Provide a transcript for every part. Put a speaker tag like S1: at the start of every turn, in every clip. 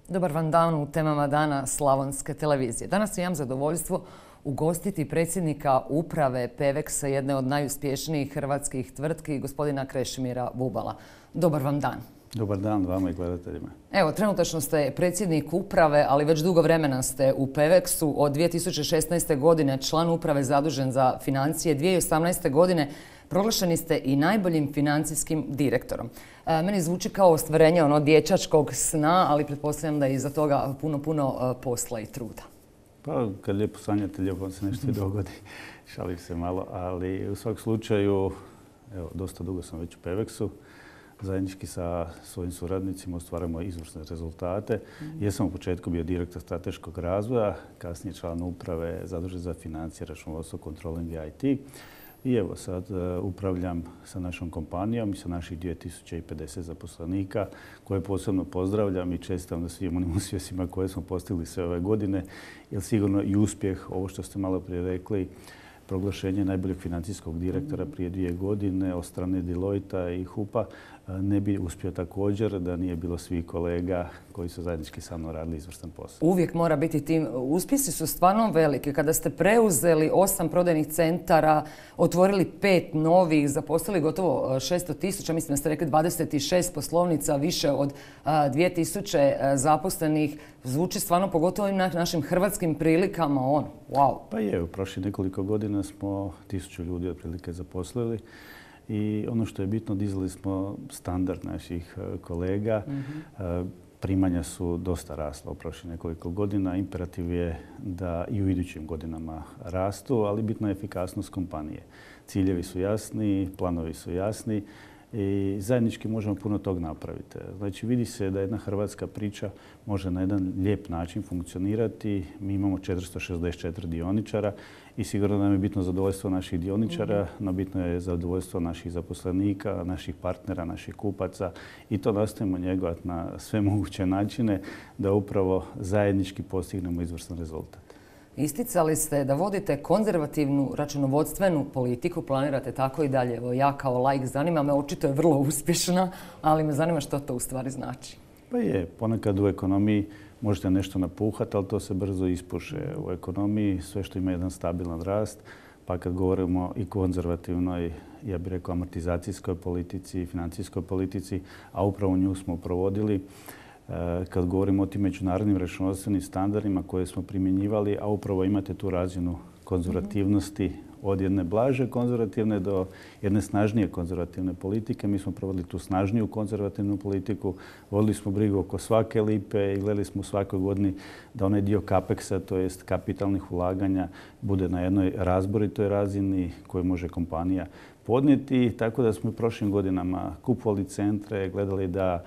S1: Dobar vam dan u temama dana Slavonske televizije. Danas imam zadovoljstvo ugostiti predsjednika uprave Peveksa, jedne od najuspješnijih hrvatskih tvrtki, gospodina Krešimira Bubala. Dobar vam dan.
S2: Dobar dan vama i gledateljima.
S1: Evo, trenutačno ste predsjednik uprave, ali već dugo vremena ste u Peveksu. Od 2016. godine član uprave zadužen za financije. 2018. godine proglašeni ste i najboljim financijskim direktorom. Meni zvuči kao ostvarenje dječačkog sna, ali pretpostavljam da je iza toga puno posla i truda.
S2: Pa kad lijepo sanjate, lijepo se nešto i dogodi. Šalim se malo, ali u svakom slučaju, evo, dosta dugo sam već u Peveksu. Zajednički sa svojim suradnicima ostvarujemo izvrsne rezultate. Jesam u početku bio direktor strateškog razvoja, kasnije član uprave zadužen za financije, računovodstvo, kontroling i IT. I evo sad upravljam sa našom kompanijom i sa naših 2050 zaposlenika koje posebno pozdravljam i čestitam na svim onim uspjesima koje smo postigli sve ove godine. Jer sigurno i uspjeh, ovo što ste malo prije rekli, proglašenje najboljeg financijskog direktora prije 2 godine od strane Deloitte i HUP-a ne bi uspio također da nije bilo svih kolega koji su zajednički sa mnom radili izvrstan posao.
S1: Uvijek mora biti tim. Uspjesi su stvarno veliki. Kada ste preuzeli 8 prodajnih centara, otvorili 5 novih, zaposlili gotovo 600.000, mislim da ste rekli 26 poslovnica, više od 2000 zaposlenih, zvuči stvarno pogotovo i na našim hrvatskim prilikama wow.
S2: Pa je, u prošlih nekoliko godina smo 1000 ljudi otprilike zaposlili. I ono što je bitno, dizali smo standard naših kolega. Primanja su dosta rasla u prošlih nekoliko godina. Imperativ je da i u idućim godinama rastu, ali bitna je efikasnost kompanije. Ciljevi su jasni, planovi su jasni i zajednički možemo puno tog napraviti. Znači vidi se da jedna hrvatska priča može na jedan lijep način funkcionirati. Mi imamo 464 dioničara i sigurno nam je bitno zadovoljstvo naših dioničara, no bitno je zadovoljstvo naših zaposlenika, naših partnera, naših kupaca i to nastojimo njegovati na sve moguće načine da upravo zajednički postignemo izvrstan rezultat.
S1: Isticali ste da vodite konzervativnu računovodstvenu politiku, planirate tako i dalje. Evo, ja kao laik zanima me, očito je vrlo uspješna, ali me zanima što to u stvari znači.
S2: Pa je, ponekad u ekonomiji možete nešto napuhati, ali to se brzo ispuše. U ekonomiji sve što ima jedan stabilan rast, pa kad govorimo i konzervativnoj, ja bih rekao, amortizacijskoj politici, financijskoj politici, a upravo nju smo provodili, kad govorimo o tim međunarodnim računovodstvenim standardima koje smo primjenjivali, a upravo imate tu razinu konzervativnosti od jedne blaže konzervativne do jedne snažnije konzervativne politike. Mi smo provodili tu snažniju konzervativnu politiku, vodili smo brigu oko svake lipe i gledali smo u svakoj godini da onaj dio CAPEX-a, to jest kapitalnih ulaganja, bude na jednoj razboritoj razini koju može kompanija podnijeti. Tako da smo u prošlim godinama kupovali centre, gledali da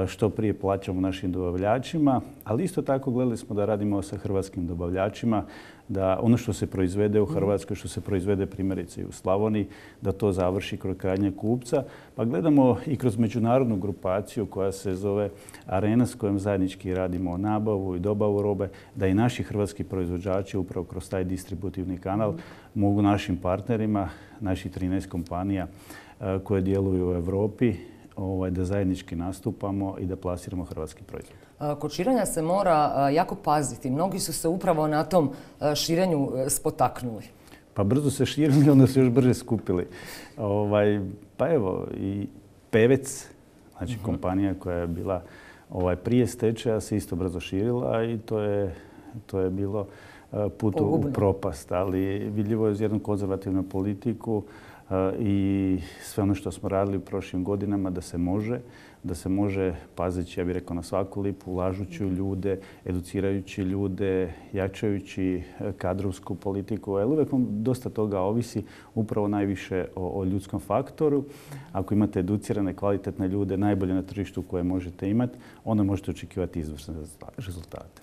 S2: što prije plaćamo našim dobavljačima, ali isto tako gledali smo da radimo sa hrvatskim dobavljačima, da ono što se proizvede u Hrvatskoj, što se proizvede primjerice i u Slavoniji, da to završi kod krajnjeg kupca. Pa gledamo i kroz međunarodnu grupaciju koja se zove Arena, s kojom zajednički radimo nabavu i dobavu robe, da i naši hrvatski proizvođači upravo kroz taj distributivni kanal mogu našim partnerima, naših 13 kompanija koje djeluju u Europi, da zajednički nastupamo i da plasiramo hrvatski proizvod.
S1: Kod širenja se mora jako paziti. Mnogi su se upravo na tom širenju spotaknuli.
S2: Pa brzo se širili, onda se još brže skupili. Pa evo, i Pevec, znači kompanija koja je bila prije stečaja, se isto brzo širila i to je bilo put u propast. Ali vidljivo je uz jednu konzervativnu politiku i sve ono što smo radili u prošlim godinama da se može pazeći, ja bih rekao, na svaku lipu, ulažući u ljude, educirajući ljude, jačajući kadrovsku politiku. Jer uvijek dosta toga ovisi upravo najviše o ljudskom faktoru. Ako imate educirane, kvalitetne ljude, najbolje na tržištu koje možete imati, onda možete očekivati izvrsne rezultate.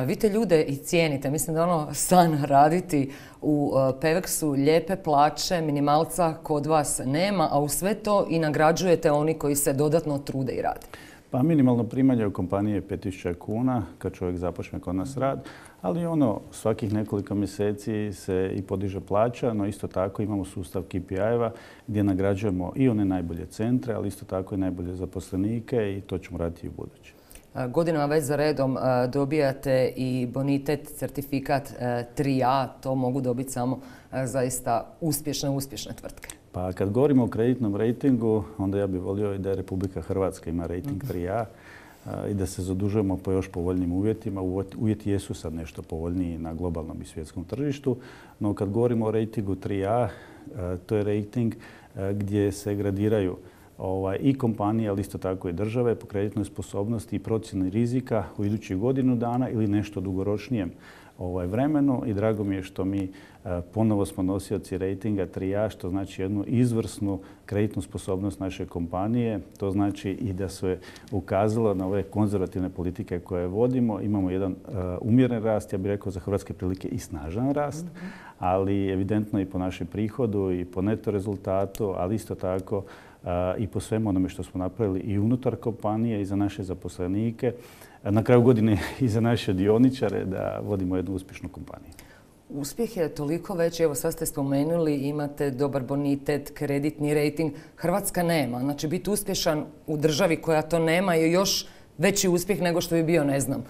S1: Vi te ljude i cijenite. Mislim da je san raditi u Peveksu, lijepe plaće, minimalca kod vas nema, a u sve to i nagrađujete oni koji se dodatno trude i rade.
S2: Pa minimalno primanje u kompaniji je 5.000 kuna kad čovjek započne kod nas rad, ali svakih nekoliko mjeseci se i podiže plaća, no isto tako imamo sustav KPI-eva gdje nagrađujemo i one najbolje centre, ali isto tako i najbolje zaposlenike i to ćemo raditi i u buduće.
S1: Godinama već za redom dobijate i bonitet, certifikat 3A. To mogu dobiti samo zaista uspješne tvrtke.
S2: Pa kad govorimo o kreditnom rejtingu, onda ja bih volio i da Republika Hrvatska ima rejting 3A i da se zadužujemo po još povoljnijim uvjetima. Uvjeti jesu sad nešto povoljniji na globalnom i svjetskom tržištu, no kad govorimo o rejtingu 3A, to je rejting gdje se gradiraju i kompanije, ali isto tako i države po kreditnoj sposobnosti i procjeni rizika u idućih godinu dana ili nešto dugoročnijem vremenu. I drago mi je što mi ponovo smo nosioci rejtinga 3A, što znači jednu izvrsnu kreditnu sposobnost naše kompanije. To znači i da se ukazalo na ove konzervativne politike koje vodimo. Imamo jedan umjeren rast, ja bih rekao za hrvatske prilike i snažan rast, ali evidentno i po našem prihodu i po neto rezultatu, ali isto tako i po svemu onome što smo napravili i unutar kompanije i za naše zaposlenike, na kraju godine i za naše dioničare da vodimo jednu uspješnu kompaniju.
S1: Uspjeh je toliko veći, evo sad ste spomenuli, imate dobar bonitet, kreditni rejting. Hrvatska nema. Znači biti uspješan u državi koja to nema je još veći uspjeh nego što bi bio, ne znam,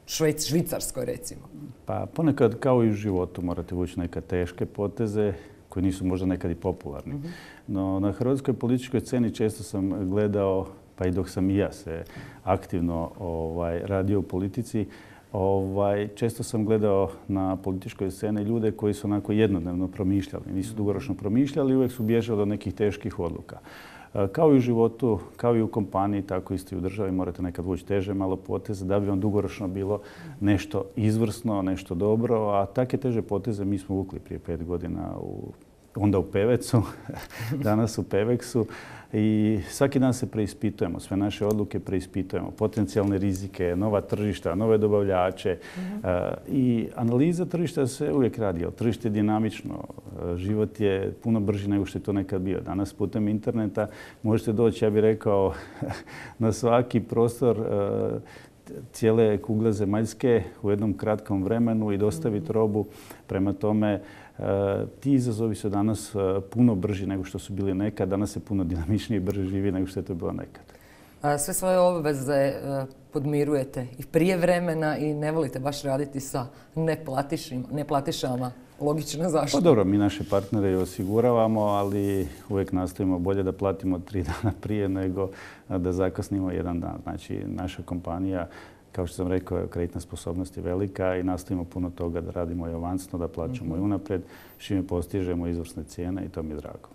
S1: Švicarskoj recimo.
S2: Pa ponekad kao i u životu morate vući neke teške poteze koji nisu možda nekad i popularni. No na hrvatskoj političkoj sceni često sam gledao, pa i dok sam i ja se aktivno radio u politici, često sam gledao na političkoj sceni ljude koji su onako jednodnevno promišljali, nisu dugoročno promišljali i uvijek su bježali do nekih teških odluka. Kao i u životu, kao i u kompaniji, tako isto i u državi morate nekad vući teže malo poteze da bi vam dugoročno bilo nešto izvrsno, nešto dobro, a takve teže poteze mi smo vukli prije 5 godina onda u Pevecu, danas u Peveksu i svaki dan se preispitujemo, sve naše odluke preispitujemo, potencijalne rizike, nova tržišta, nove dobavljače i analiza tržišta se uvijek radi, ali tržište je dinamično, život je puno brži nego što je to nekad bio. Danas putem interneta možete doći, ja bih rekao, na svaki prostor cijele kugle zemaljske u jednom kratkom vremenu i dostaviti robu. Prema tome, ti izazovi su danas puno brži nego što su bili nekad. Danas se puno dinamičnije i brže živi nego što je to bilo nekad.
S1: Sve svoje obveze podmirujete i prije vremena i ne volite baš raditi sa neplatišama. Logično, zašto?
S2: Pa dobro, mi naše partnere osiguravamo, ali uvijek nastojimo bolje da platimo 3 dana prije nego da zakasnimo 1 dan. Znači, naša kompanija, kao što sam rekao, kreditna sposobnost je velika i nastojimo puno toga da radimo i avansno, da plaćamo i unaprijed, s čime postižemo izvrsne cijene i to mi je drago.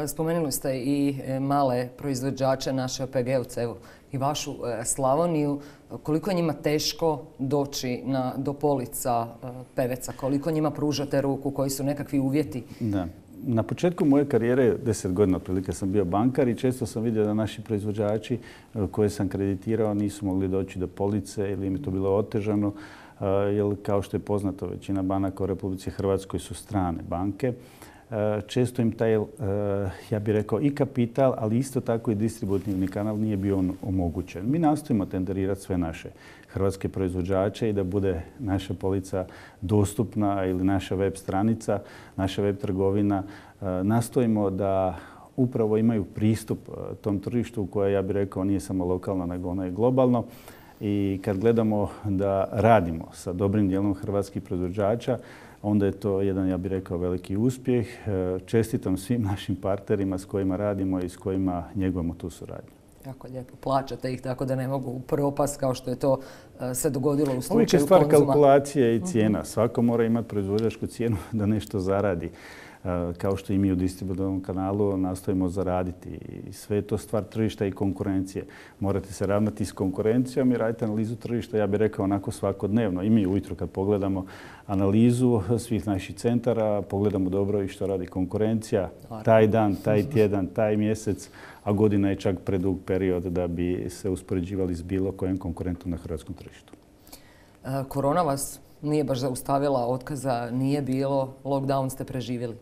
S1: Spomenuli ste i male proizvođače, naše OPG-ovce, evo i vašu Slavoniju. Koliko je njima teško doći do polica Peveca? Koliko njima pružate ruku? Koji su nekakvi uvjeti?
S2: Da. Na početku moje karijere, 10 godina otprilike sam bio bankar i često sam vidio da naši proizvođači koje sam kreditirao nisu mogli doći do police ili im je to bilo otežano. Jer kao što je poznato, većina banaka u Republici Hrvatskoj su strane banke. Često im taj, ja bih rekao, i kapital, ali isto tako i distributivni kanal nije bio omogućen. Mi nastojimo tenderirati sve naše hrvatske proizvođače i da bude naša polica dostupna ili naša web stranica, naša web trgovina. Nastojimo da upravo imaju pristup tom tržištu koje, ja bih rekao, nije samo lokalno, nego ono je globalno. I kad gledamo da radimo sa dobrim dijelom hrvatskih proizvođača, onda je to jedan, ja bih rekao, veliki uspjeh. Čestitam svim našim partnerima s kojima radimo i s kojima njegujemo tu suradnju.
S1: Jako lijepo. Plaćate ih tako da ne mogu propast kao što je to se dogodilo u slučaju Konzuma.
S2: Uvijek je stvar kalkulacije i cijena. Svako mora imati proizvođačku cijenu da nešto zaradi. Kao što i mi u distributivnom kanalu nastojimo zaraditi. I sve je to stvar tržišta i konkurencije. Morate se ravnati s konkurencijom i raditi analizu tržišta, ja bih rekao, onako svakodnevno. I mi ujutro kad pogledamo analizu svih naših centara, pogledamo dobro i što radi konkurencija. Taj dan, taj tjedan, taj mjesec, a godina je čak predug period da bi se uspoređivali s bilo kojim konkurentom na hrvatskom tržištu.
S1: Korona vas nije baš zaustavila, otkaza nije bilo, lockdown ste preživjeli?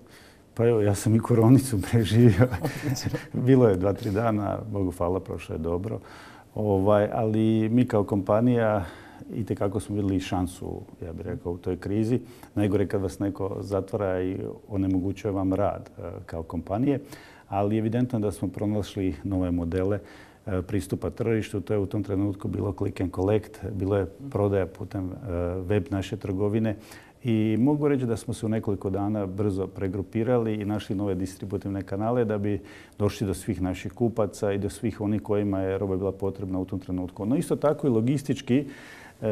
S2: Pa evo, ja sam i koronicu preživio. Bilo je 2-3 dana, Bogu hvala, prošlo je dobro. Ali mi kao kompanija itekako smo vidjeli šansu, ja bih rekao, u toj krizi. Najgore kad vas neko zatvara i onemogućuje vam rad kao kompanije. Ali evidentno da smo pronašli nove modele pristupa tržištu. To je u tom trenutku bilo click and collect, bilo je prodaja putem web naše trgovine. I mogu reći da smo se u nekoliko dana brzo pregrupirali i našli nove distributivne kanale da bi došli do svih naših kupaca i do svih onih kojima je roba bila potrebna u tom trenutku. No isto tako i logistički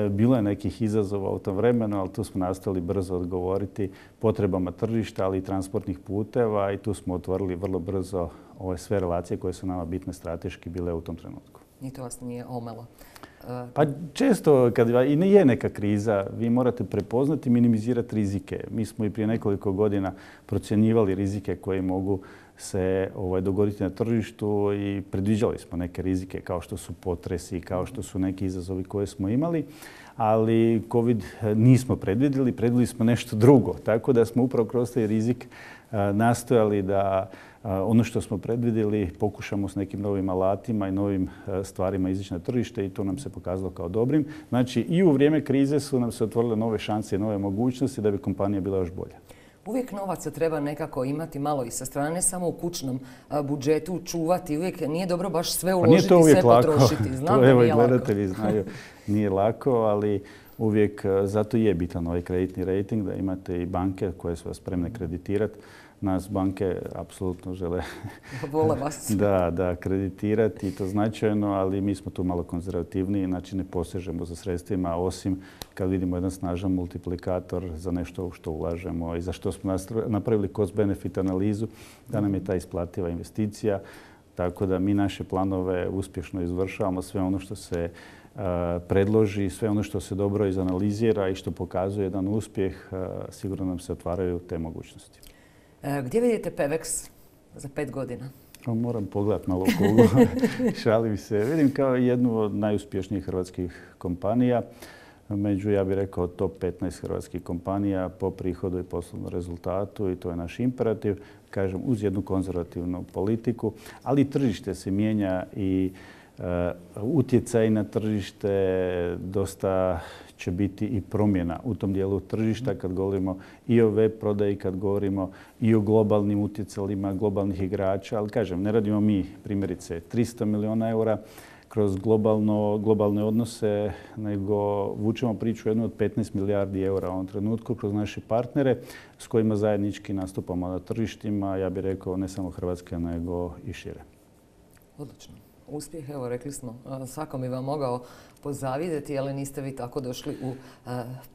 S2: bilo je nekih izazova u tom vremenu, ali tu smo nastavili brzo odgovoriti potrebama tržišta, ali i transportnih puteva i tu smo otvorili vrlo brzo ove sve relacije koje su nama bitne strateški bile u tom trenutku.
S1: I to vas nije omelo?
S2: Pa često kad i je neka kriza, vi morate prepoznati i minimizirati rizike. Mi smo i prije nekoliko godina procjenjivali rizike koji mogu se dogoditi na tržištu i predviđali smo neke rizike kao što su potresi, kao što su neki izazovi koje smo imali, ali COVID nismo predvidjeli smo nešto drugo. Tako da smo upravo kroz taj rizik nastojali da ono što smo predvidjeli pokušamo s nekim novim alatima i novim stvarima izići na tržište i to nam se pokazalo kao dobrim. Znači i u vrijeme krize su nam se otvorile nove šanse i nove mogućnosti da bi kompanija bila još bolja.
S1: Uvijek novaca treba nekako imati malo i sa strane, ne samo u kućnom budžetu čuvati. Uvijek nije dobro baš sve uložiti i sve potrošiti.
S2: Znam da nije lako. Gledatelji znaju, nije lako, ali uvijek zato je bitan ovaj kreditni rating, da imate i banke koje su vas spremne kreditirati. Nas banke apsolutno žele da kreditirati i to značajno, ali mi smo tu malo konzervativniji, znači ne posežemo za sredstvima, osim kad vidimo jedan snažan multiplikator za nešto što ulažemo i za što smo napravili cost-benefit analizu, da nam je ta isplativa investicija. Tako da mi naše planove uspješno izvršavamo, sve ono što se predloži, sve ono što se dobro izanalizira i što pokazuje jedan uspjeh, sigurno nam se otvaraju te mogućnosti.
S1: Gdje vidite Pevex za 5 godina?
S2: Moram pogledati malo kuglu, šalim se. Vidim kao jednu od najuspješnijih hrvatskih kompanija. Među, ja bih rekao, top 15 hrvatskih kompanija po prihodu i poslovnom rezultatu i to je naš imperativ. Kažem, uz jednu konzervativnu politiku, ali tržište se mijenja i utjecaj na tržište dosta će biti i promjena u tom dijelu tržišta kad govorimo i o web prodaji, kad govorimo i o globalnim utjecajima globalnih igrača. Ali kažem, ne radimo mi primjerice 300 milijuna eura kroz globalne odnose, nego vučemo priču jednu od 15 milijardi eura u ovom trenutku kroz naše partnere s kojima zajednički nastupamo na tržištima, ja bih rekao ne samo Hrvatske, nego i šire.
S1: Odlično. Uspjeh, evo rekli smo, svako bi vam mogao pozavidjeti, ali niste vi tako došli u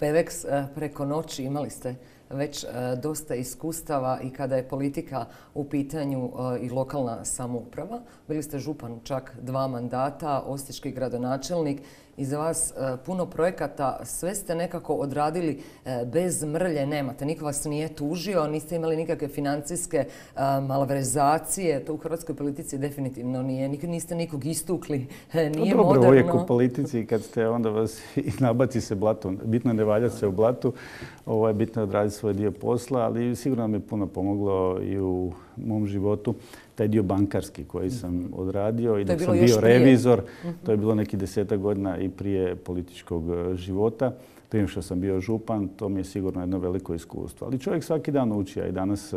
S1: Pevex preko noći. Imali ste već dosta iskustava i kada je politika u pitanju i lokalna samouprava. Bili ste župan čak 2 mandata, osječki gradonačelnik. Iza vas puno projekata, sve ste nekako odradili bez mrlje, nemate. Niko vas nije tužio, niste imali nikakve financijske malverzacije. To u hrvatskoj politici definitivno nije. Niste nikog istukli, nije
S2: dobro,
S1: moderno.
S2: Uvijek u politici kad ste, onda vas i nabaci se blato. Bitno je ne valjati se u blatu, bitno je odraditi svoj dio posla, ali sigurno mi je puno pomoglo i u mom životu taj dio bankarski koji sam odradio i dok sam bio revizor. To je bilo neki 10 godina i prije političkog života. Prije što sam bio župan, to mi je sigurno jedno veliko iskustvo. Ali čovjek svaki dan uči, a i danas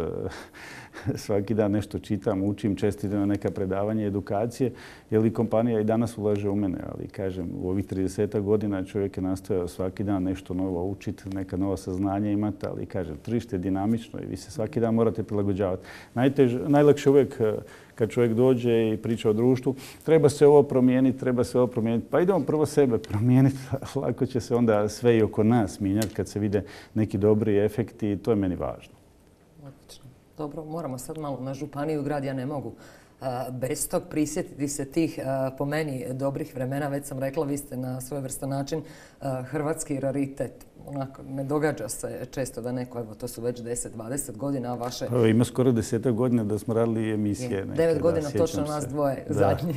S2: svaki dan nešto čitam, učim, često idem na neka predavanja, edukacije, jer i kompanija i danas ulaže u mene. Ali kažem, u ovih 30 godina čovjek je nastojao svaki dan nešto novo učiti, neka nova saznanja imati, ali kažem, tržište je dinamično i vi se svaki dan morate prilagođavati. Najlakše uvijek kad čovjek dođe i priča o društvu, treba se ovo promijeniti, treba se ovo promijeniti. Pa idemo prvo sebe promijeniti, lako će se onda sve i oko nas mijenjati kad se vide neki dobri efekti i to je meni važno.
S1: Odlično. Dobro, moramo sad malo na županiju grad, ja ne mogu bez tog prisjetiti se tih po meni dobrih vremena. Već sam rekla, vi ste na svojevrstan način hrvatski raritet. Onako, ne događa se često da neko, evo to su već 10-20 godina vaše...
S2: Ima skoro 10 godina da smo radili emisije.
S1: 9 godina točno nas dvoje, zadnji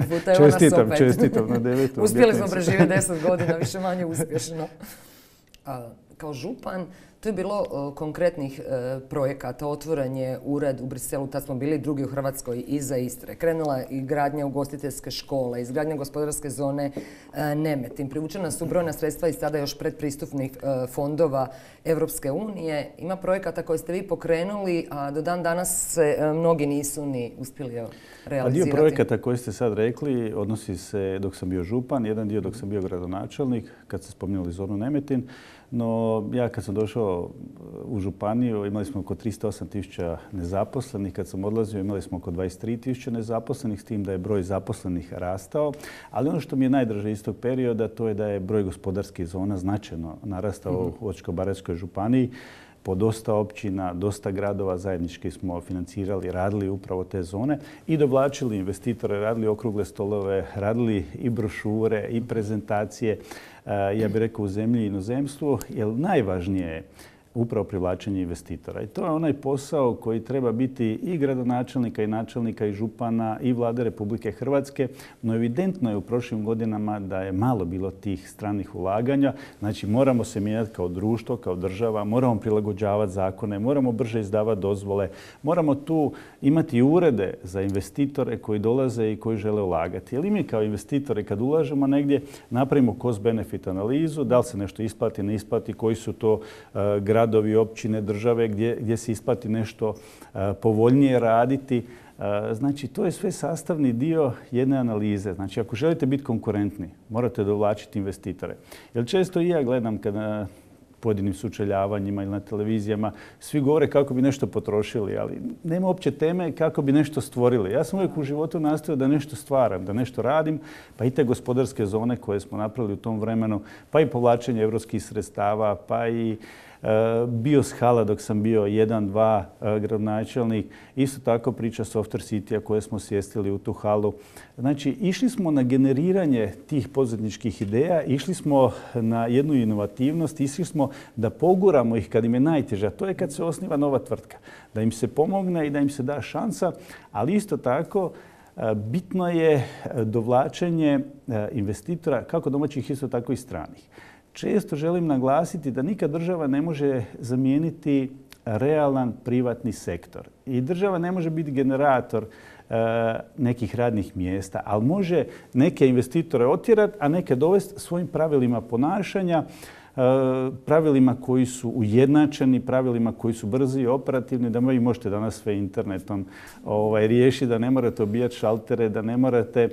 S1: puta.
S2: Čestitam na 9.
S1: Uspjeli smo preživjeti 10 godina, više manje uspješno. Kao župan Tu je bilo konkretnih projekata, otvoren je ured u Briselu, tad smo bili drugi u Hrvatskoj iza Istre. Krenula je i gradnja ugostiteljske škole, izgradnja gospodarske zone Nemetin. Privučena su brojna sredstva i sada još predpristupnih fondova Evropske unije. Ima projekata koje ste vi pokrenuli, a do dan danas se mnogi nisu ni uspjeli realizirati.
S2: Dio projekata koje ste sad rekli odnosi se dok sam bio župan, jedan dio dok sam bio gradonačelnik, kad ste spominjali zonu Nemetin. No, ja kad sam došao u županiju imali smo oko 308.000 nezaposlenih. Kad sam odlazio imali smo oko 23.000 nezaposlenih, s tim da je broj zaposlenih rastao. Ali ono što mi je najdraže iz tog perioda to je da je broj gospodarskih zona značajno narastao u Osječko-baranjskoj županiji. Po dosta općina, dosta gradova zajednički smo financirali, radili upravo te zone i dovlačili investitore, radili okrugle stolove, radili i brošure i prezentacije, ja bih rekao u zemlji i inozemstvu, jer najvažnije je upravo privlačenje investitora. I to je onaj posao koji treba biti i gradonačelnika i načelnika i župana i Vlade Republike Hrvatske. No evidentno je u prošlim godinama da je malo bilo tih stranih ulaganja. Znači moramo se mijenjati kao društvo, kao država, moramo prilagođavati zakone, moramo brže izdavati dozvole, moramo tu imati urede za investitore koji dolaze i koji žele ulagati. Jer i mi kao investitori kad ulažemo negdje napravimo cost-benefit analizu, da li se nešto isplati, ne isplati, koji su to gradovi, općine, države gdje se isplati nešto povoljnije raditi. Znači, to je sve sastavni dio jedne analize. Znači, ako želite biti konkurentni, morate dovlačiti investitore. Jer često i ja gledam kada pojedinim sučeljavanjima ili na televizijama, svi govore kako bi nešto potrošili, ali nema uopće teme kako bi nešto stvorili. Ja sam uvijek u životu nastojao da nešto stvaram, da nešto radim, pa i te gospodarske zone koje smo napravili u tom vremenu, pa i povlačenje evropskih sredstava, pa i Bioshala dok sam bio 1-2 gradonačelnik. Isto tako priča Software City-a koje smo sjestili u tu halu. Znači, išli smo na generiranje tih poduzetničkih ideja, išli smo na jednu inovativnost, išli smo da poguramo ih kad im je najteže. To je kad se osniva nova tvrtka. Da im se pomogne i da im se da šansa, ali isto tako bitno je dovlačenje investitora kako domaćih, isto tako i stranih. Često želim naglasiti da nikad država ne može zamijeniti realan privatni sektor. I država ne može biti generator nekih radnih mjesta, ali može neke investitore otjerati, a neke dovesti svojim pravilima ponašanja, pravilima koji su ujednačeni, pravilima koji su brzi i operativni, da vi možete danas sve internetom riješiti, da ne morate obijati šaltere, da ne morate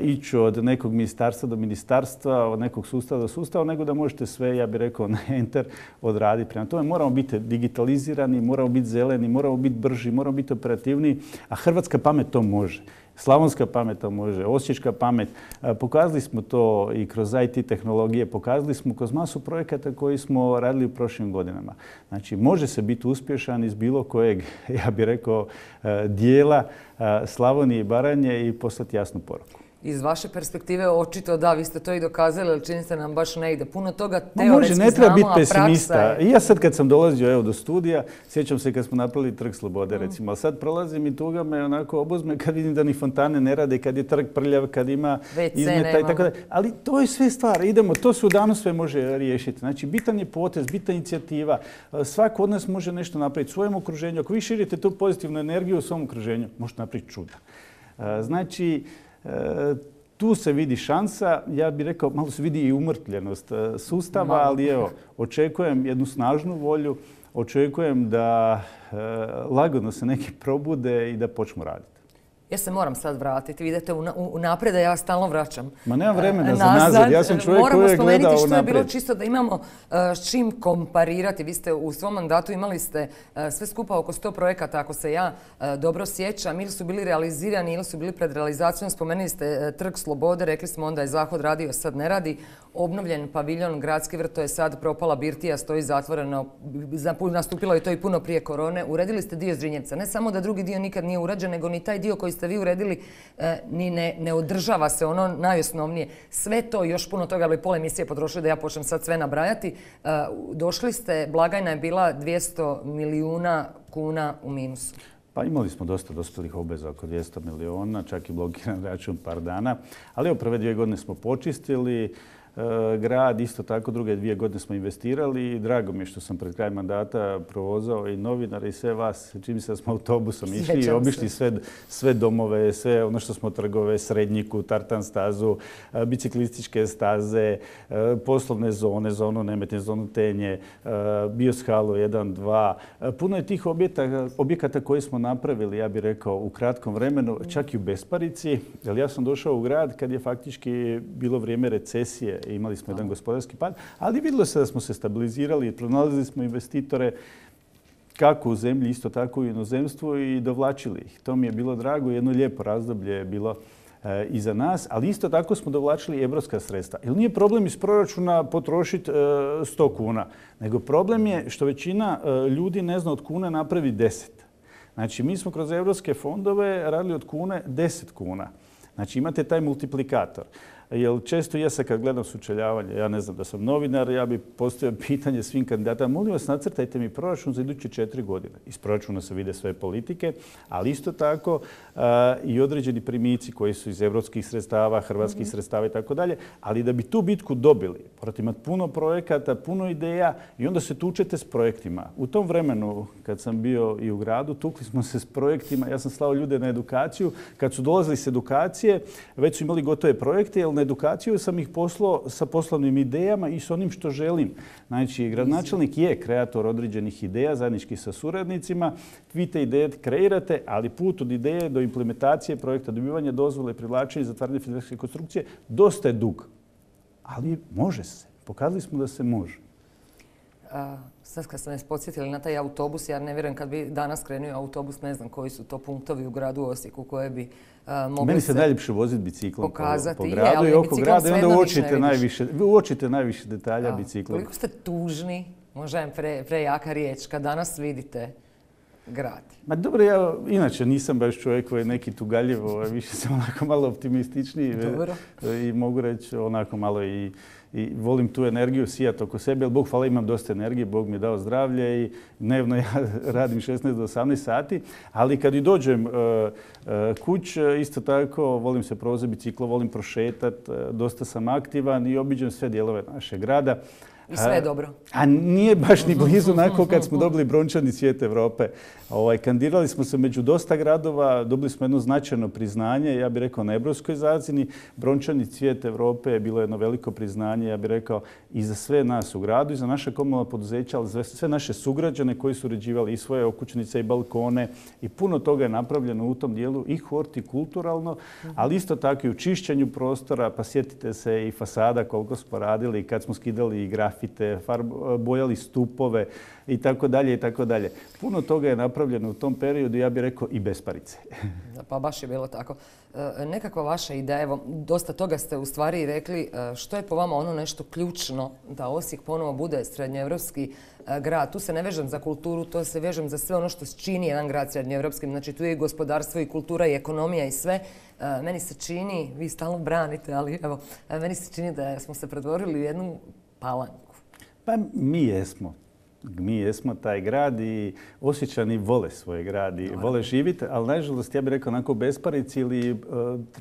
S2: ići od nekog ministarstva do ministarstva, od nekog sustava do sustava, nego da možete sve, ja bih rekao, na enter odraditi. Prema tome moramo biti digitalizirani, moramo biti zeleni, moramo biti brži, moramo biti operativniji, a hrvatska pamet to može. Slavonska pamet to može, osječka pamet. Pokazali smo to i kroz IT tehnologije, pokazali smo kroz masu projekata koji smo radili u prošlim godinama. Znači, može se biti uspješan iz bilo kojeg, ja bih rekao, dijela Slavonije i Baranje i poslati jasnu poruku.
S1: Iz vaše perspektive očito da, vi ste to i dokazali, ali čini se nam baš ne ide. Puno toga teoretski znamo,
S2: ne treba biti
S1: a praksa
S2: pesimista.
S1: je...
S2: I ja sad kad sam dolazio do studija, sjećam se kad smo napravili Trg Slobode, recimo, ali sad prolazim i tuga me onako obuzme kad vidim da ni fontane ne rade, kad je trg prljav, kad ima izmeta i tako da. Ali to je sve stvar. Idemo, to se u danu sve može riješiti. Znači, bitan je potez, bitna inicijativa. Svako od nas može nešto napraviti u svojem okruženju. Ako vi širite tu pozitivnu energiju u svom okruženju, možete napraviti čuda. Znači, tu se vidi šansa, ja bih rekao, malo se vidi i umrtljenost sustava, ali evo, očekujem jednu snažnu volju, očekujem da lagano se neki probude i da počnu raditi.
S1: Ja se moram sad vratiti, vidite unaprijed, a ja stalno vraćam.
S2: Ma nemam vremena za nazad, ja sam čovjek koji je gledao unaprijed.
S1: Moramo spomenuti što je bilo čisto da imamo s čim komparirati. Vi ste u svom mandatu imali ste sve skupa oko 100 projekata, ako se ja dobro sjećam, ili su bili realizirani ili su bili pred realizacijom. Spomenuli ste Trg Slobode, rekli smo onda je Zahod radio, sad ne radi. Obnovljen paviljon, Gradski vrt, to je sad propala birtija, stoji zatvoreno, nastupilo je to i puno prije korone. Uredili ste dio Zrinjevca. Ne samo da drugi dio nikad nije urađen, nego ni taj dio koji ste vi uredili ni ne održava se ono najosnovnije. Sve to, još puno toga, ali pola emisije potrošili da ja počnem sad sve nabrajati. Došli ste, blagajna je bila 200 milijuna kuna u minusu.
S2: Pa imali smo dosta dospjelih obveza, oko 200 milijuna, čak i blokiran račun par dana. Ali evo, prve 2 godine smo počistili. grad. Isto tako druge 2 godine smo investirali i drago mi je što sam pred kraj mandata provozao i novinare i sve vas. Čini se da smo autobusom išli i obišli sve domove, sve ono što smo trgove, Srednjiku, Tartan stazu, biciklističke staze, poslovne zone, zonu Nemetin, zonu Tenje, Bioshalu 1, 2. Puno je tih objekata koje smo napravili, ja bih rekao, u kratkom vremenu, čak i u besparici. Jer ja sam došao u grad kad je faktički bilo vrijeme recesije i imali smo jedan gospodarski pad, ali vidjelo se da smo se stabilizirali, pronalazili smo investitore kako u zemlji, isto tako i u inozemstvu i dovlačili ih. To mi je bilo drago, jedno lijepo razdoblje je bilo iza nas, ali isto tako smo dovlačili evropska sredstva. Jer nije problem iz proračuna potrošiti 100 kuna, nego problem je što većina ljudi ne zna od kune napravi 10. Znači, mi smo kroz evropske fondove radili od kune 10 kuna. Znači, imate taj multiplikator. Jer često ja se kad gledam sučeljavanje, ja ne znam da sam novinar, ja bih postavio pitanje svim kandidatima, molim vas nacrtajte mi proračun za iduće 4 godine. Iz proračuna se vide sve politike, ali isto tako i određeni primici koji su iz evropskih sredstava, hrvatskih sredstava i tako dalje. Ali da bi tu bitku dobili, morate imati puno projekata, puno ideja i onda se tučete s projektima. U tom vremenu, kad sam bio i u gradu, tukli smo se s projektima. Ja sam slao ljude na edukaciju. Kad su dolazili s edukacije, već su imali gotove projekte, jer na edukaciju sam ih poslao sa poslovnim idejama i s onim što želim. Znači, gradonačelnik je kreator određenih ideja, zajednički sa suradnicima. Vi te ideje kreirate, ali put od ideje do implementacije projekta, dobivanja dozvole, privlačenja i zatvaranja financijske konstrukcije dosta je dug. Ali može se. Pokazali smo da se može.
S1: Sad kad ste nas podsjetili na taj autobus, ja ne vjerujem kad bi danas krenuo autobus, ne znam koji su to punktovi u gradu Osijeku koje bi mogli
S2: Meni se najljepše voziti biciklom po gradu
S1: ali
S2: i oko grada i onda
S1: uočite
S2: najviše detalja biciklom.
S1: Koliko ste tužni, možda je prejaka riječ, kad danas vidite grad?
S2: Ma dobro, ja inače nisam baš čovjek koji je neki tugaljiv, više sam onako malo optimističniji i mogu reći onako malo i volim tu energiju sijati oko sebe, jer Bog hvala imam dosta energije, Bog mi je dao zdravlje i dnevno ja radim 16 do 18 sati, ali kad i dođem kuć, isto tako volim se provozati biciklo, volim prošetati, dosta sam aktivan i obiđem sve dijelove našeg grada.
S1: I sve je dobro.
S2: A nije baš ni blizu onako kad smo dobili brončani cvijet Europe. Kandidirali smo se među dosta gradova, dobili smo jedno značajno priznanje, ja bih rekao na evropskoj razini. Brončani cvijet Europe je bilo jedno veliko priznanje, ja bih rekao, i za sve nas u gradu, i za naše komunalna poduzeća, ali za sve naše sugrađane koji su uređivali i svoje okućnice i balkone. I puno toga je napravljeno u tom dijelu i hortikulturalno, ali isto tako i u čišćenju prostora. Pa sjetite se i fasada koliko smo radili kad smo skidali i grafite, bojali stupove i tako dalje i tako dalje. Puno toga je napravljeno u tom periodu, ja bih rekao i besparice.
S1: Pa baš je bilo tako. Nekakva vaša ideja, evo, dosta toga ste u stvari rekli. Što je po vama ono nešto ključno da Osijek ponovo bude srednjoevropski grad? Tu se ne vežem za kulturu, to se vežem za sve ono što čini jedan grad srednjoevropskim. Znači tu je i gospodarstvo i kultura i ekonomija i sve. Meni se čini, vi stalno branite, ali evo, meni se čini da smo se pretvorili u jednu Palanku.
S2: Pa mi jesmo. Mi jesmo taj grad i Osječani vole svoj grad i vole živjeti, ali nažalost ja bih rekao onako besparici ili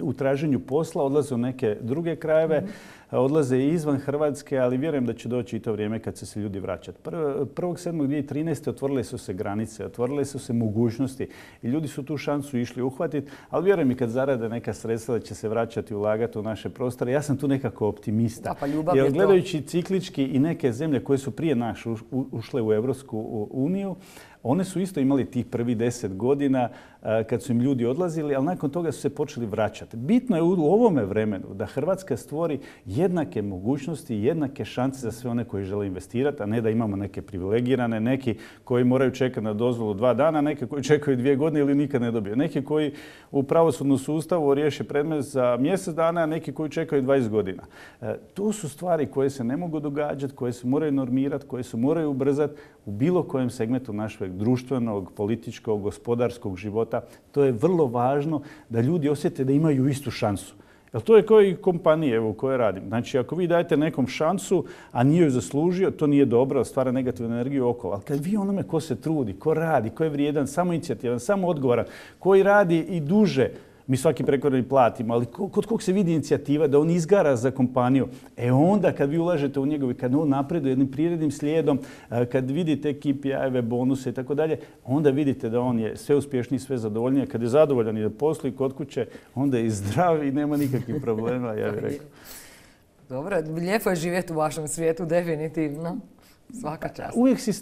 S2: u traženju posla odlaze u neke druge krajeve, odlaze i izvan Hrvatske, ali vjerujem da će doći i to vrijeme kad će se ljudi vraćati. 1.7.2013. otvorile su se granice, otvorile su se mogućnosti i ljudi su tu šansu išli uhvatiti, ali vjerujem i kad zarade neka sredstva da će se vraćati i ulagati u naše prostore. Ja sam tu nekako optimista. Jer gledajući ciklički i neke zemlje koje su prije nas ušle u Europsku uniju, one su isto imali tih prvih 10 godina kad su im ljudi odlazili, ali nakon toga su se počeli vraćati. Bitno je u ovome vremenu da Hrvatska stvori jednake mogućnosti, jednake šanse za sve one koji žele investirati, a ne da imamo neke privilegirane, neki koji moraju čekati na dozvolu 2 dana, neki koji čekaju 2 godine ili nikad ne dobiju. Neki koji u pravosudnom sustavu riješe predmet za mjesec dana, a neki koji čekaju 20 godina. To su stvari koje se ne mogu događati, koje se moraju normirati, koje se moraju ubrzati u bilo kojem segmentu našeg društvenog, političkog, gospodarskog života. To je vrlo važno da ljudi osjete da imaju istu šansu. Jer to je kao i kompanije u kojoj radim. Znači, ako vi dajete nekom šansu, a nije ju zaslužio, to nije dobro, stvara negativnu energiju okolo. Ali kad vi onome ko se trudi, ko radi, ko je vrijedan, samoinicijativan, samo odgovoran, koji radi i duže mi svaki prekovremeni platimo, ali kod kog se vidi inicijativa da on izgara za kompaniju, onda kad vi ulažete u njegov i kad on napreduje jednim prirodnim slijedom, kad vidite KPI-eve, bonuse i tako dalje, onda vidite da on je sve uspješniji, sve zadovoljniji. Kad je zadovoljan i da posli kod kuće, onda je i zdrav i nema nikakvih problema, ja bih rekao.
S1: Dobro, lijepo je živjeti u vašem svijetu, definitivno. Svaka čast.
S2: Uvijek si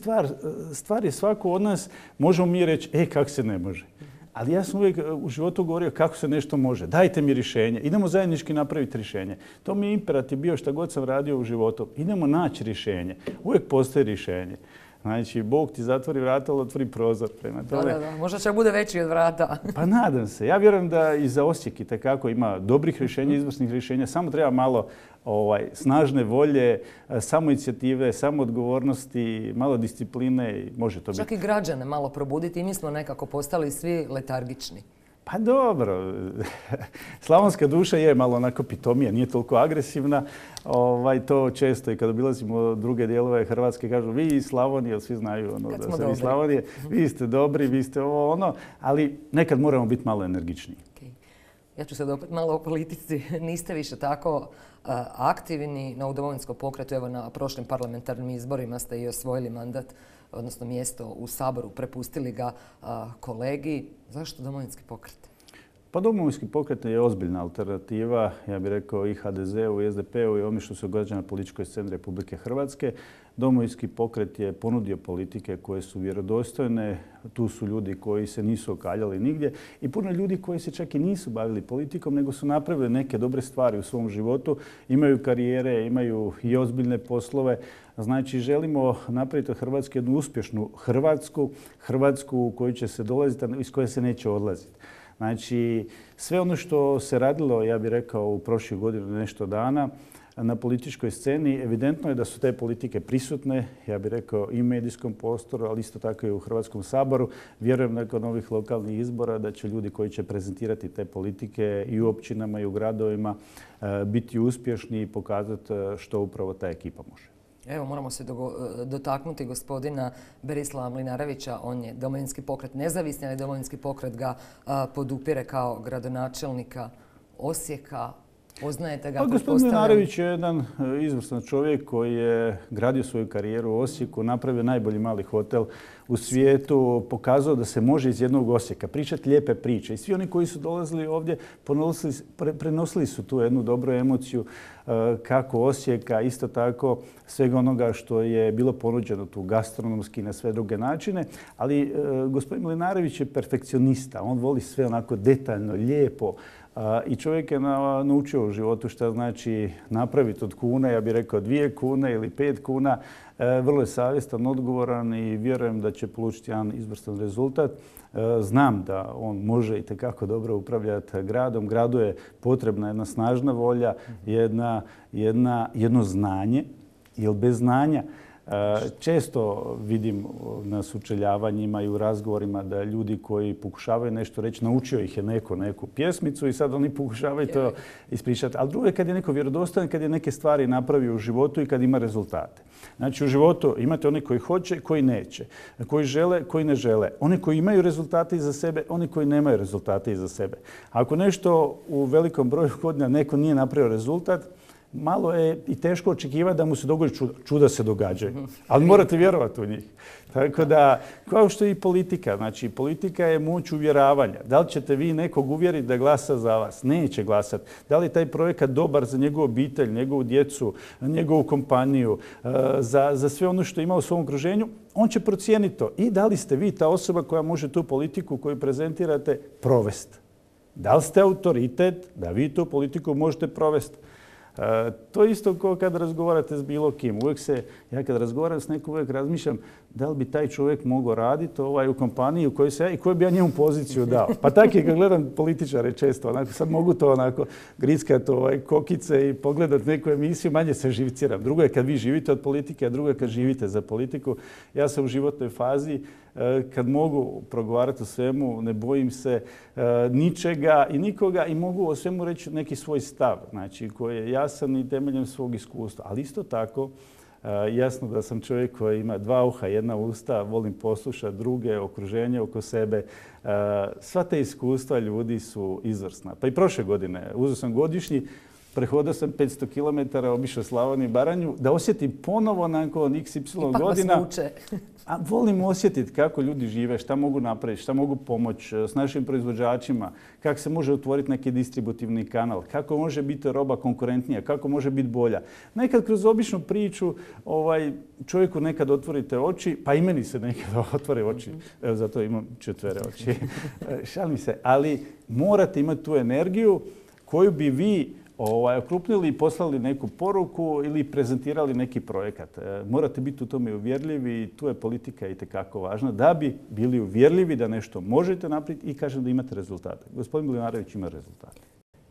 S2: stvar je svako od nas, možemo mi reći, kako se ne može. Ali ja sam uvijek u životu govorio kako se nešto može. Dajte mi rješenje. Idemo zajednički napraviti rješenje. To mi je imperativ bio šta god sam radio u životu. Idemo naći rješenje. Uvijek postoji rješenje. Znači, Bog ti zatvori vrata, ali otvori prozor. Prema tome.
S1: Da. Možda će bude veći od vrata.
S2: Pa nadam se. Ja vjerujem da i za Osijek itekako ima dobrih rješenja, izvrsnih rješenja. Samo treba malo snažne volje, samoinicijative, samoodgovornosti, malo discipline i može to biti.
S1: Čak i građane malo probuditi i mi smo nekako postali svi letargični.
S2: Pa dobro, slavonska duša je malo onako pitomija, nije toliko agresivna. To često i kad obilazimo druge dijelove Hrvatske kažu vi iz Slavonije, svi znaju da ste vi iz Slavonije, vi ste dobri, vi ste ali nekad moramo biti malo energičniji.
S1: Okay. Ja ću sad opet malo o politici. Niste više tako aktivni na Domovinskom pokretu. Evo na prošlim parlamentarnim izborima ste i osvojili mandat, odnosno mjesto u Saboru, prepustili ga kolegi. Zašto Domovinski pokret?
S2: Pa Domovinski pokret je ozbiljna alternativa, ja bih rekao i HDZ-u i SDP-u i ono što se događa na političkoj sceni Republike Hrvatske. Domovinski pokret je ponudio politike koje su vjerodostojne, tu su ljudi koji se nisu okaljali nigdje i puno ljudi koji se čak i nisu bavili politikom, nego su napravili neke dobre stvari u svom životu, imaju karijere, imaju i ozbiljne poslove. Znači, želimo napraviti od Hrvatske jednu uspješnu Hrvatsku u koju će se dolaziti, iz koje se neće odlaziti. Znači, sve ono što se radilo, ja bih rekao, u prošlih godinu nešto dana na političkoj sceni, evidentno je da su te politike prisutne, ja bih rekao i u medijskom prostoru, ali isto tako i u Hrvatskom saboru. Vjerujem nakon ovih lokalnih izbora da će ljudi koji će prezentirati te politike i u općinama i u gradovima biti uspješni i pokazati što upravo ta ekipa može.
S1: Evo, moramo se dotaknuti gospodina Berislava Mlinarevića. On je Domovinski pokret nezavisni, ali Domovinski pokret ga podupire kao gradonačelnika Osijeka. Poznajete ga, pretpostavljam?
S2: Gospodin Mlinarević je jedan izvrstan čovjek koji je gradio svoju karijeru u Osijeku, napravio najbolji mali hotel u svijetu, pokazao da se može iz jednog Osijeka pričati lijepe priče. I svi oni koji su dolazili ovdje prenosili su tu jednu dobru emociju kako Osijeka, isto tako svega onoga što je bilo ponuđeno tu gastronomski na sve druge načine. Ali gospodin Mlinarević je perfekcionista. On voli sve onako detaljno, lijepo. I čovjek je naučio u životu šta znači napraviti od kuna, ja bih rekao 2 kune ili 5 kuna. Vrlo je savjestan, odgovoran i vjerujem da će polučiti jedan izvrstan rezultat. Znam da on može itekako dobro upravljati gradom. Gradu je potrebna jedna snažna volja, jedno znanje, jer bez znanja često vidim na sučeljavanjima i u razgovorima da ljudi koji pokušavaju nešto reći, naučio ih je neku pjesmicu i sad oni pokušavaju to ispričati. Ali drugo je kad je neko vjerodostojan, kad je neke stvari napravio u životu i kad ima rezultate. Znači u životu imate oni koji hoće, koji neće, koji žele, koji ne žele. Oni koji imaju rezultate iza sebe, oni koji nemaju rezultate iza sebe. Ako nešto u velikom broju godina neko nije napravio rezultat, malo je i teško očekivati da mu se dogodi čuda. Čuda se događaju, ali morate vjerovati u njih. Tako da, kao što i politika. Znači, politika je moć uvjeravanja. Da li ćete vi nekog uvjeriti da glasa za vas? Neće glasati. Da li je taj projekat dobar za njegovu obitelj, njegovu djecu, njegovu kompaniju, za sve ono što ima u svom okruženju? On će procijeniti to. I da li ste vi ta osoba koja može tu politiku koju prezentirate provesti? Da li ste autoritet da vi tu politiku možete provesti? To je isto kao kad razgovarate s bilo kim. Ja kad razgovaram s nekom uvijek razmišljam da li bi taj čovjek mogao raditi u kompaniji u kojoj se ja i koju bi ja njemu poziciju dao. Pa tako je kad gledam političare često. Sad mogu to grickati kokice i pogledati neku emisiju, manje se živciram. Drugo je kad vi živite od politike, a drugo je kad živite za politiku. Ja sam u životnoj fazi kad mogu progovarati o svemu, ne bojim se ničega i nikoga i mogu o svemu reći neki svoj stav, znači koji je jasan i temeljem svog iskustva. Ali isto tako Jasno da sam čovjek koji ima dva uha, jedna usta, volim poslušati druge, okruženje oko sebe. Sva te iskustva ljudi su izvrsna. Pa i prošle godine uzeo sam godišnji, prehodio sam 500 km, obišao Slavoniju i Baranju, da osjetim ponovo nakon XY godina.
S1: Ipak vas vuče.
S2: A volim osjetiti kako ljudi žive, šta mogu napraviti, šta mogu pomoći s našim proizvođačima, kako se može otvoriti neki distributivni kanal, kako može biti roba konkurentnija, kako može biti bolja. Nekad kroz običnu priču čovjeku nekad otvorite oči, pa i meni se nekad otvore oči, evo zato imam 4 oči. Šalim se, ali morate imati tu energiju koju bi vi okrupnili i poslali neku poruku ili prezentirali neki projekat. Morate biti u tome uvjerljivi i tu je politika itekako važna da bi bili uvjerljivi da nešto možete napraviti i kažem da imate rezultate. Gospodin Mlinarević ima rezultate.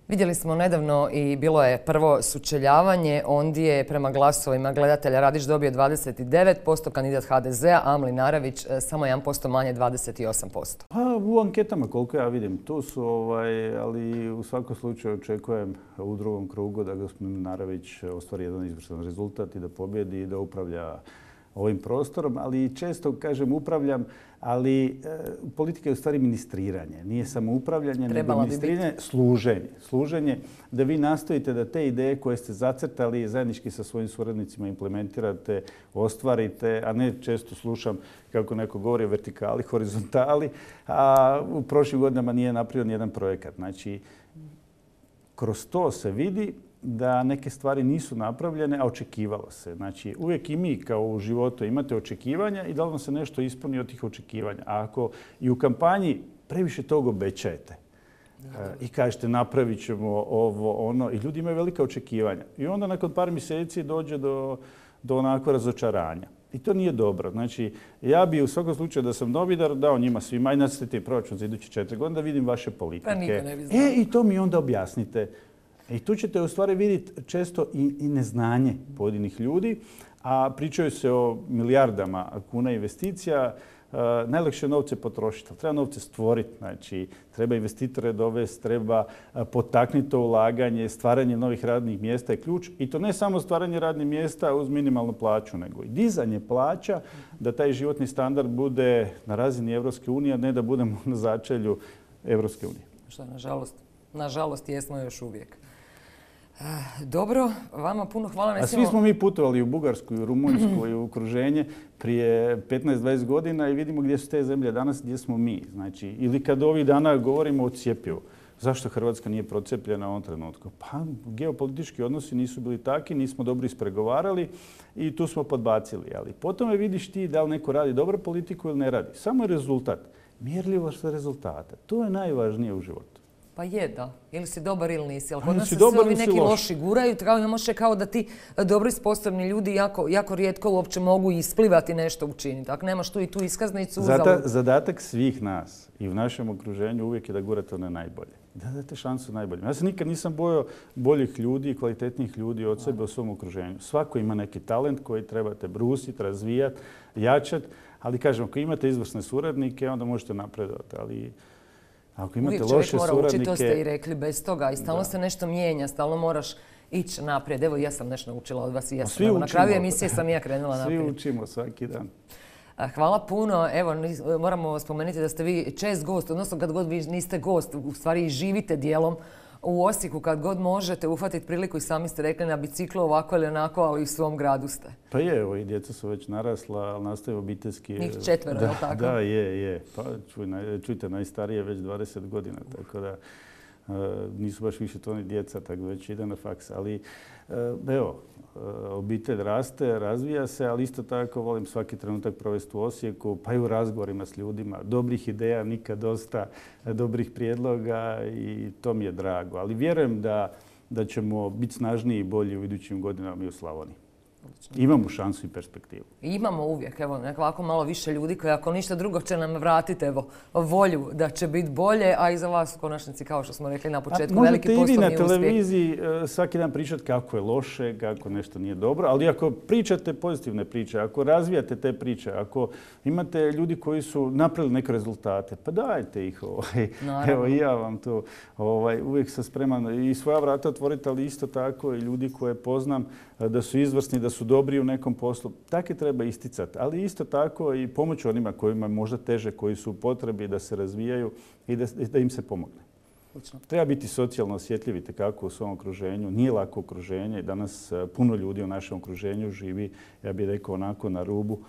S1: Vidjeli smo nedavno i bilo je prvo sučeljavanje, ondje je prema glasovima gledatelja Radić dobio 29%, kandidat HDZ-a, a Mlinarević samo 1% manje, 28%.
S2: Pa u anketama koliko ja vidim, tu su, ali u svakom slučaju očekujem u drugom krugu da gospodin Mlinarević ostvari jedan izvrstan rezultat i da pobjedi i da upravlja ovim prostorom, ali često kažem upravljam, ali politika je u stvari ministriranje. Nije samo upravljanje, nego ministriranje, služenje da vi nastojite da te ideje koje ste zacrtali zajednički sa svojim suradnicima implementirate, ostvarite, a ne često slušam kako neko govori o vertikali, horizontali, a u prošlim godinama nije napravio nijedan projekat. Znači, kroz to se vidi da neke stvari nisu napravljene, a očekivalo se. Znači, uvijek i mi kao u životu imate očekivanja i da li vam se nešto ispuni od tih očekivanja. A ako i u kampanji previše toga obećajete i kažete napravit ćemo ovo, ono, i ljudi imaju velika očekivanja. I onda nakon par mjeseci dođe do onako razočaranja. I to nije dobro. Znači, ja bi u svakom slučaju da sam novinar dao njima svima i nacrtite proračun za iduće 4 godine da vidim vaše politike.
S1: Pa niko ne bi znao.
S2: I to mi onda objasnite. I tu ćete u stvari vidjeti često i neznanje pojedinih ljudi, a pričaju se o milijardama kuna investicija. Najlakše je novce potrošiti, ali treba novce stvoriti. Znači, treba investitore dovesti, treba potaknuti to ulaganje, stvaranje novih radnih mjesta je ključ. I to ne samo stvaranje radnih mjesta uz minimalnu plaću, nego i dizanje plaća da taj životni standard bude na razini Evropske unije, a ne da budemo na začelju Evropske unije.
S1: Što nažalost jesmo još uvijek. Dobro, vama puno hvala.
S2: A svi smo mi putovali u Bugarsku, u Rumunjsku i u okruženje prije 15-20 godina i vidimo gdje su te zemlje danas, gdje smo mi. Znači, ili kad ovih dana govorimo o cjepivu. Zašto Hrvatska nije procijepljena u ovom trenutku? Pa geopolitički odnosi nisu bili takvi, nismo dobro ispregovarali i tu smo podbacili. Ali potom vidiš ti da li neko radi dobro politiku ili ne radi. Samo je rezultat. Mjerljivost rezultata. To je najvažnije u životu.
S1: Pa je, da. Ili si dobar ili nisi. Ali kod nas se svi ovi neki loši guraju. Kao da ti dobro i sposobni ljudi jako rijetko uopće mogu isplivati nešto učiniti. Ako nemaš tu i tu iskaznicu...
S2: Zadatak svih nas i u našem okruženju uvijek je da gurate one najbolje. Da date šansu najboljim. Ja se nikad nisam bojao boljih ljudi i kvalitetnih ljudi od sebe u svom okruženju. Svako ima neki talent koji trebate brusiti, razvijati, jačati. Ali kažem, ako imate izvrsne suradnike, onda možete napredovati. Ali ako imate loše suradnike... Uvijek čovjek mora učiti, to ste i rekli, bez toga. I stalno se nešto mijenja, stalno moraš ići naprijed. Evo, ja sam nešto naučila od vas i ja sam. Na kraju emisije sam ja krenula naprijed. Svi učimo svaki dan.
S1: Hvala puno. Evo, moramo spomenuti da ste vi čest gost, odnosno kad god vi niste gost, u stvari živite dijelom u Osijeku, kad god možete uhvatiti priliku i sami ste rekli na biciklu ovako ili onako, ali u svom gradu ste.
S2: Pa je, evo i djeca su već narasla, ali nastaje obiteljski.
S1: Njih 4, je li tako?
S2: Da, je. Pa čujte, najstarije već 20 godina, tako da nisu baš više to ni djeca, tako da već ide na faks. Ali evo, obitelj raste, razvija se, ali isto tako volim svaki trenutak provesti u Osijeku, pa i u razgovorima s ljudima. Dobrih ideja, nikad dosta, dobrih prijedloga i to mi je drago. Ali vjerujem da ćemo biti snažniji i bolji u idućim godinama i u Slavoniji. Imamo šansu i perspektivu.
S1: Imamo uvijek, evo, ovako malo više ljudi koji ako ništa drugo će nam vratiti, evo, volju da će biti bolje, a i za vas u konačnici, kao što smo rekli na početku, veliki poslovni uspjeh.
S2: Možete i vi na televiziji svaki dan pričati kako je loše, kako nešto nije dobro, ali ako pričate pozitivne priče, ako razvijate te priče, ako imate ljudi koji su napravili neke rezultate, pa dajte ih. Evo i ja vam to uvijek sam spreman i svoja vrata otvoriti, ali isto tako i ljudi koje poznam da su izvrsni, da su su dobri u nekom poslu. Takve treba isticati, ali isto tako i pomoć onima kojima je možda teže, koji su u potrebi da se razvijaju i da im se pomogne. Treba biti socijalno osjetljivi tekako u svom okruženju. Nije lako okruženje. Danas puno ljudi u našem okruženju živi, ja bih rekao, onako na rubu,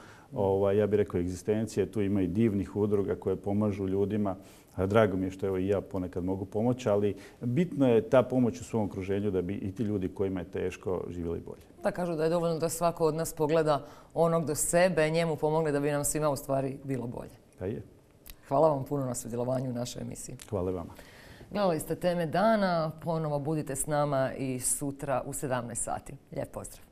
S2: ja bih rekao, egzistencije. Tu ima i divnih udruga koje pomažu ljudima. Drago mi je što evo i ja ponekad mogu pomoći, ali bitno je ta pomoć u svom okruženju da bi i ti ljudi kojima je teško živjeli bolje.
S1: Da, kažu da je dovoljno da svako od nas pogleda onog do sebe, njemu pomogne da bi nam svima u stvari bilo bolje.
S2: Da je.
S1: Hvala vam puno na sudjelovanju u našoj emisiji.
S2: Hvala vama. Gledali
S1: ste Teme dana, ponovo budite s nama i sutra u 17 sati. Lijep pozdrav.